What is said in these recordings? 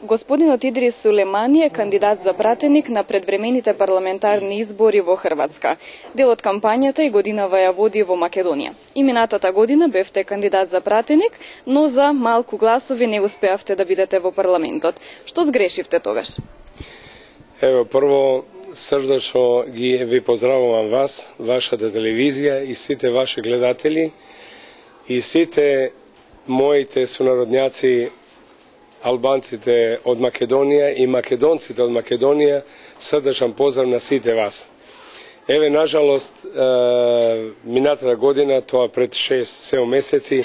Господинот Идрис Сулемани е кандидат за пратеник на предвремените парламентарни избори во Хрватска. Дел од кампањата и годинава ја води во Македонија. И минатата година бевте кандидат за пратеник, но за малку гласови не успеавте да бидете во парламентот. Што сгрешивте тогаш? Ево, прво срдечно ви поздравувам вас, вашата телевизија и сите ваши гледатели и сите моите сонародњаци албанците од Македонија и македонците од Македонија, срдечен поздрав на сите вас. Еве, нажалост, минатата година, тоа пред 6-7 месеци,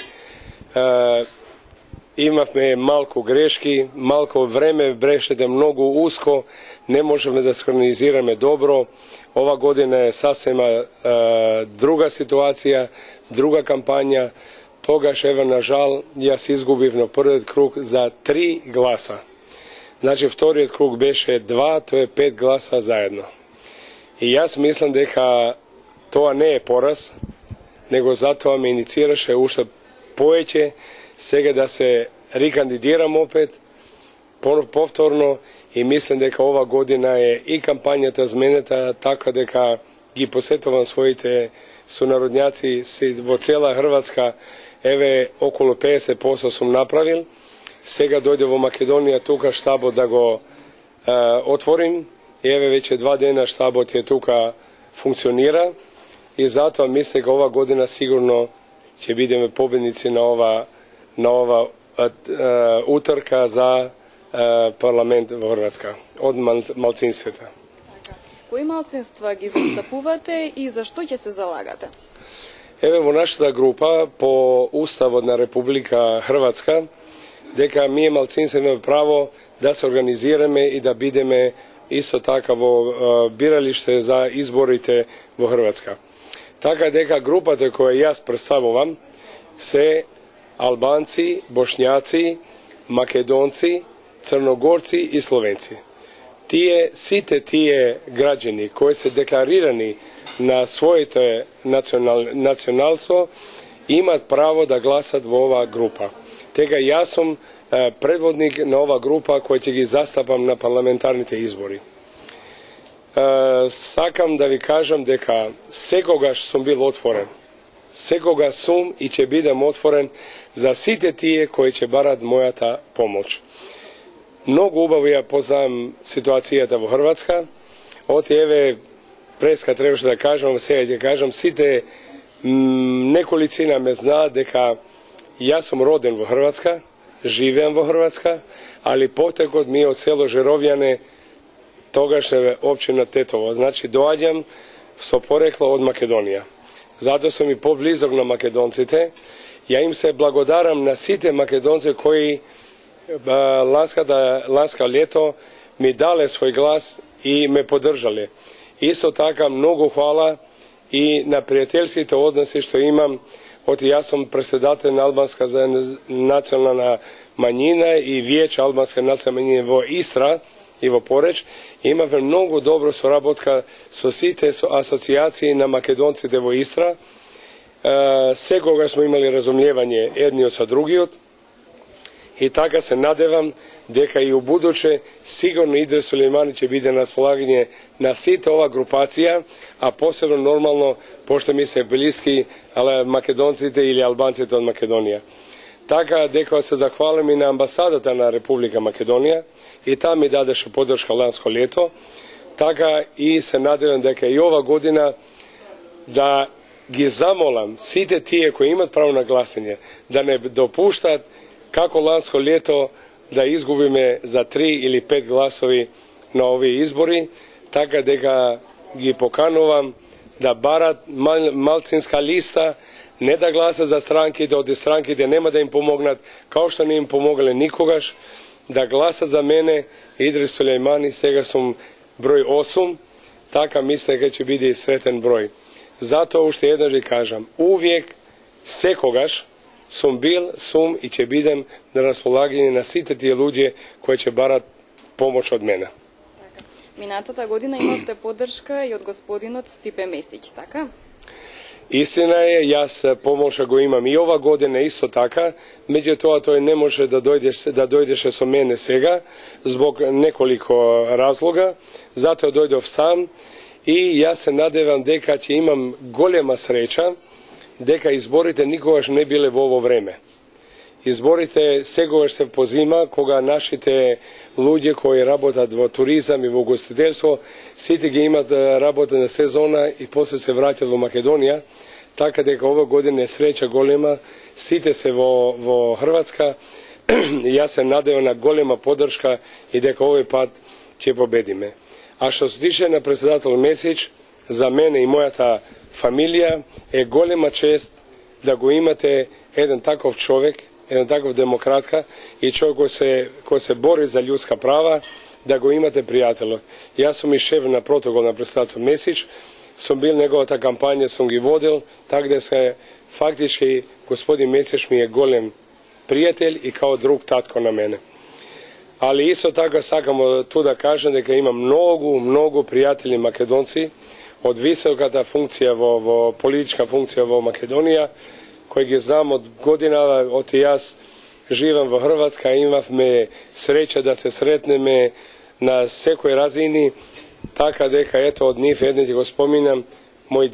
имавме малку грешки, малку време, брешете многу уско, не можеме да синхронизираме добро. Ова година е сасема друга ситуација, друга кампања. Тогаш, еве, на жал, јас изгубив на првиот круг за 3 гласа. Значи, вториот круг беше 2, тоа е 5 гласа заедно. И јас мислам дека тоа не е пораз, него затоа ме иницираше уште повеќе сега да се рекандидирам опет, повторно, и мислам дека ова година е и кампањата зменета, така дека ги посетувам своите сонародњаци во цела Хрватска. Еве, околу 50% сум направил. Сега дојде во Македонија тука штабот да го отворим. Еве, веќе 2 дена штабот е тука, функционира. И затоа мислам дека ова година сигурно ќе бидеме победници на ова утрка за парламент во Хрватска од малцинствата. Кои малцинства ги застапувате и зашто ќе се залагате? Еве, во нашата група, по Уставот на Република Хрватска, дека ние малцинства имаме право да се организираме и да бидеме исто така во биралиште за изборите во Хрватска. Така дека групата која јас представувам се албанци, бошњаци, македонци, црногорци и словенци. Сите тие граѓани кои се декларирани на своите националство имат право да гласат во оваа група. Тега јас сум предводник на оваа група која ќе ги застапам на парламентарните избори. Сакам да ви кажам дека секогаш сум бил отворен. Секогаш сум и ќе бидам отворен за сите тие кои ќе барат мојата помош. Многу убаво ја познавам ситуацијата во Хрватска. Еве, преска требаше да кажам, сега ќе кажам, сите неколицина ме знаат дека јас сум роден во Хрватска, живеам во Хрватска, али потекот ми од село Жеровјане, тогашна општина Тетово. Значи, доаѓам со порекло од Македонија. Затоа сум и поблизок на македонците. Ја им се благодарам на сите македонци кои ланска лето ми дале свој глас и ме поддржале. Исто така многу хвала и на пријателските односи што имам, јас сум председател на албанска национална мањина и виеќе албанска национална мањина во Истра и во Пореч. Имаме многу добро соработка со сите асоцијации на македонците во Истра. Секогаш сме имали разумјевање едниот со другиот. И така се надевам дека и у будуче сигурно Идрис Сулемани ќе биде на располагање на сите ова групација, а посебно нормално, пошто ми се блиски македонците или албанците од Македонија. Така дека се захвалам и на амбасадата на Република Македонија, и таа ми дадеше поддршка ланско лето. Така и се надевам дека и ова година да ги замолам сите тие кои имат право на гласање да не допуштат како ланско лето да изгубиме за 3 или 5 гласови на овие избори, така дека ги поканувам да барат малцинска листа, не да гласат за странките, од странките нема да им помогнат, као што не им помогале никогаш, да гласат за мене, Идрис Сулемани, сега сум број 8, така мисля дека ќе биде и сретен број. Затоа уште еднаш ви кажам, увек, секогаш, сум бил, сум и ќе бидем на располагање на сите тие луѓе кои ќе барат помош од мене. Минатата година имавте поддршка и од господинот Стипе Месиќ, така? Истина е, јас помоша го имам и ова година исто така, меѓутоа тој не може да дојдеше со мене сега, због неколико разлога, затоа дојдов сам и јас се надевам дека ќе имам голема среќа, дека изборите никогаш не биле во ово време. Изборите сегогаш се позима кога нашите луѓе кои работат во туризам и во гостителство, сите ги имат работена сезона и после се враќат во Македонија, така дека ова година е среќа голема, сите се во Хрватска, и јас се надевам на голема поддршка и дека овој пат ќе победиме. А што се тиče на председател Месич, за мене и мојата фамилија е голема чест да го имате еден таков човек, еден таков демократка и човек кој се бори за људска права, да го имате пријателот. Јас сум и шеф на протокол на председател Месич, сум бил неговата кампања, сум ги водил, така да се фактички господин Месич ми е голем пријател и као друг татко на мене. Али исто така сакам ту да кажам дека имам многу пријатели македонци од високата функција во политичка функција во Македонија, кои ги знам од година, од јас живам во Хрватска, имавме среќа да се сретнеме на секој разини, така дека ето од нив еден ќе го споминам, мој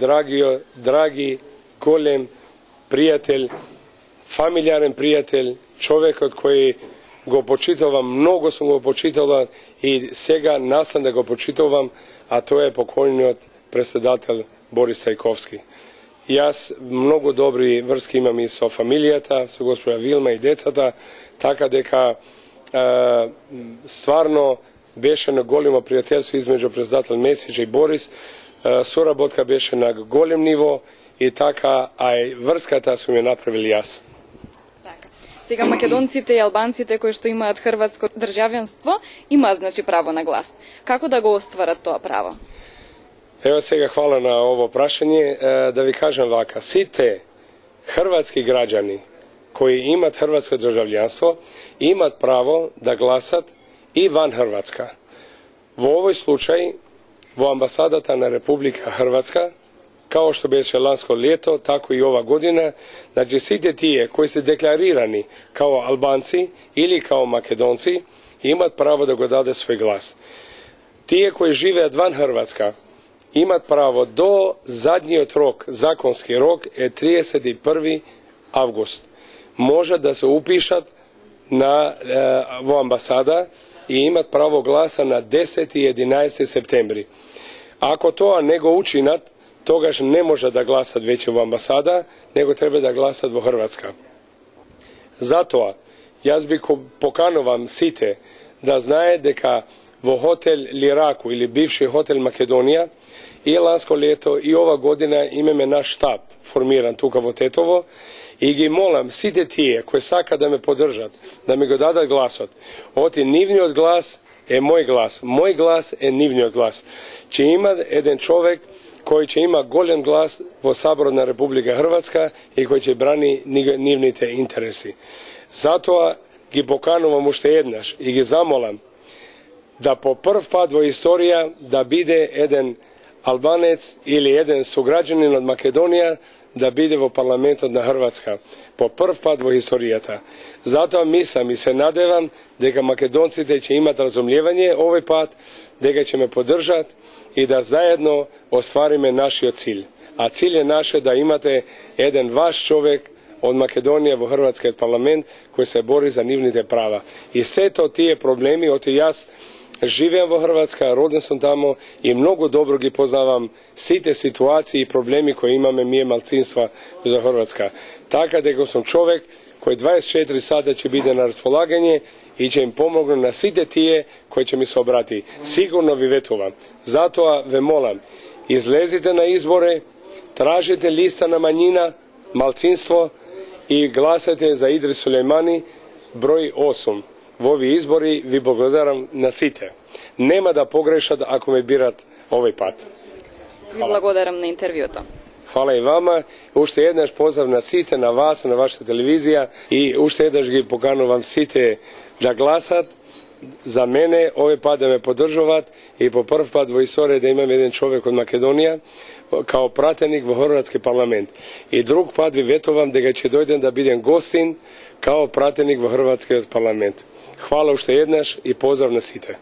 драги, голем пријател, фамилиарен пријател, човекот кој го почитувам, многу сум го почитувал и сега наслам да го почитувам, а тој е покојниот председател Борис Цајковски. Јас многу добри врски имам и со фамилијата, со госпожа Вилма и децата, така дека стварно беше на големо пријателство измеѓу председател Месич и Борис, соработка беше на голем ниво и така, а и врската сум ја направил јас. Сега македонците и албанците кои што имаат хрватско државјанство имаат право на глас. Како да го остварат тоа право? Ево сега хвала на ово прашање, да ви кажам вака, сите хрватски граѓани кои имат хрватско државјанство имат право да гласат и ван Хрватска. Во овој случај, во амбасадата на Република Хрватска, као што беше ланско лето, тако и ова година, значи сите тие кои се декларирани као албанци или као македонци, имат право да го даде свој глас. Тие кои живеат ван Хрватска, имат право до задниот рок, законски рок е 31. август. Може да се упишат во амбасада и имат право гласа на 10 и 11 септември. Ако тоа не го учинат, тогаш не може да гласат веќе во амбасада, него треба да гласат во Хрватска. Затоа, јас би поканувам сите да знае дека во хотел Лираку или бивши хотел Македонија и ланско лето и ова година имаме наш штаб формиран тука во Тетово и ги молам сите тие кои сака да ме поддржат, да ми го дадат гласот. Оти нивниот глас е мој глас е нивниот глас. Че има еден човек кој ќе има голем глас во Саборот на Република Хрватска и кој ќе брани нивните интереси. Затоа ги поканувам уште еднаш и ги замолам да по прв пат во историја да биде еден албанец или еден сограѓанин од Македонија да биде во парламентот на Хрватска. По прв пат во историјата. Затоа мислам и се надевам дека македонците ќе имат разумлевање овој пат, дека ќе ме поддржат и да заедно оствариме нашиот цил. А цил е наше да имате еден ваш човек од Македонија во Хрватскиот парламент кој се бори за нивните права. И сето тие проблеми, оти јас живеам во Хрватска, роден сум тамо и многу добро ги познавам сите ситуации и проблеми кои имаме ние малцинства за Хрватска. Така дека сум човек кој 24 сата ќе биде на располагање и ќе им помогне на сите тие кои ќе ми се обрати. Сигурно ви ветувам. Затоа ве молам, излезите на избори, тражите листа на мањина, малцинство и гласате за Идрис Сулејмани, број 8. Во овие избори ви благодарам на сите. Нема да погрешат ако ме бират овој пат. Ви благодарам на интервјуто. Хвала и вама. Уште еднаш поздрав на сите, на вас, на вашата телевизија и уште еднаш ги поканувам сите да гласат за мене овој пат да ме поддржуваат и по прв пат во историја да имам еден човек од Македонија као пратеник во Хрватски парламент. И друг пат ви ветувам дека ќе дојдем да бидем гостин као пратеник во Хрватскиот парламент. Хвала уште еднаш и поздрав на сите.